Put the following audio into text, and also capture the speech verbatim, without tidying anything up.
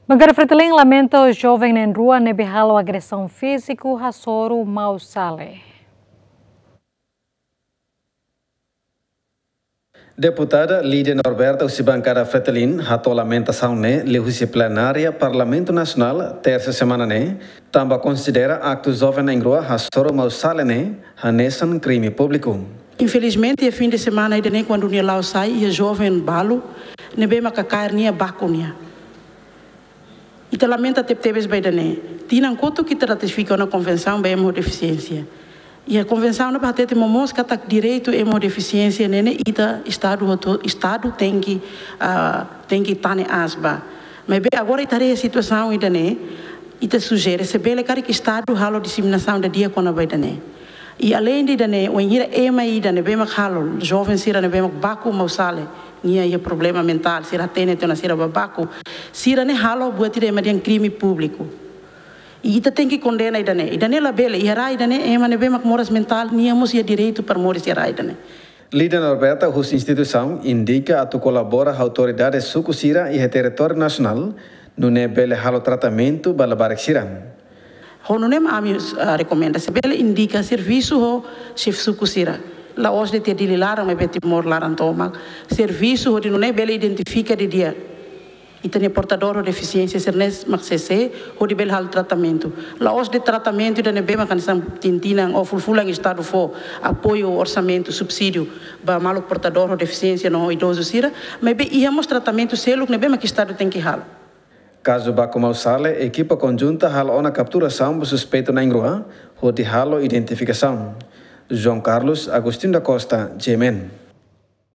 Bankada Fretilin lamenta joven na'in-rua ne'ebé halo agresaun fíziku hasoru Mausale. Deputada Lídia Norberta husi bankada Fretilin hato'o lamentasaun ne'e liuhusi plenária Parlamentu Nasionál, tersa semana ne'e, tanba konsidera aktu joven na'in-rua hasoru Mausale ne'e hanesan krime públiku. Infelizmente, iha fin de semana ida-ne'e, kuandu nia la'o sai, iha joven balu ne'ebé maka kaer nia, baku nia. Ita lamenta tebetebes ba ida-ne'e. Tinan kotuk ita ratifika ona konvensaun ba ema ho defisiénsia. Iha konvensaun ne'ebá hatete momoos katak direitu ema ho defisiénsia ne'e ne'e ita, Estadu hotu, Estadu tenke, ah, tenke tane aas ba. Maibé agora ita haree situasaun ida-ne'e, ita sujere se bele karik Estadu halo diseminasaun didi'ak kona-ba ida-ne'e. I aleinde ida-ne'e, wainhira ema ida ne'ebé mak halo, joven sira ne'ebé mak baku Mausale, nia iha problema mentál, sira hatene tiha ona sira bá baku, sira ne'e halo buat ida ema dehan krime públiku. I ita tenke kondena ida-ne'e. Ida-ne'e labele, iha rai ida-ne'e, ema ne'ebé mak moras mentál, nia mós iha direitu para moris iha rai ida-ne'e. Lídia Norberta husi instituisaun indika atu kolabora ho autoridade suku sira iha territóriu nasionál, nune'e bele halo tratamentu ba labarik sira. Ho nune'e mak ami, ah, rekomenda, se bele indika servisu ho xefe suku sira. La'ós de'it iha Dili laran, maibé Timor laran tomak. Servisu hodi nune'e bele identifika didi'ak ita-nia portadór ho defisiénsia sira-ne'e mak sé-sé, hodi bele halo tratamentu. La'ós de'it tratamentu ida ne'ebé mak hanesan tinan-tinan ou fulan-fulan Estadu fó apoiu, orsamentu, subsídiu ba maluk portadór ho defisiénsia no idozu sira, maibé iha mós tratamentu seluk ne'ebé mak Estadu tenke halo. Kazu baku Mausale, ekipa konjunta halo ona kapturasaun ba suspeitu na'in-rua, hodi halo identifikasaun. João Carlos Agostinho da Costa, G M N.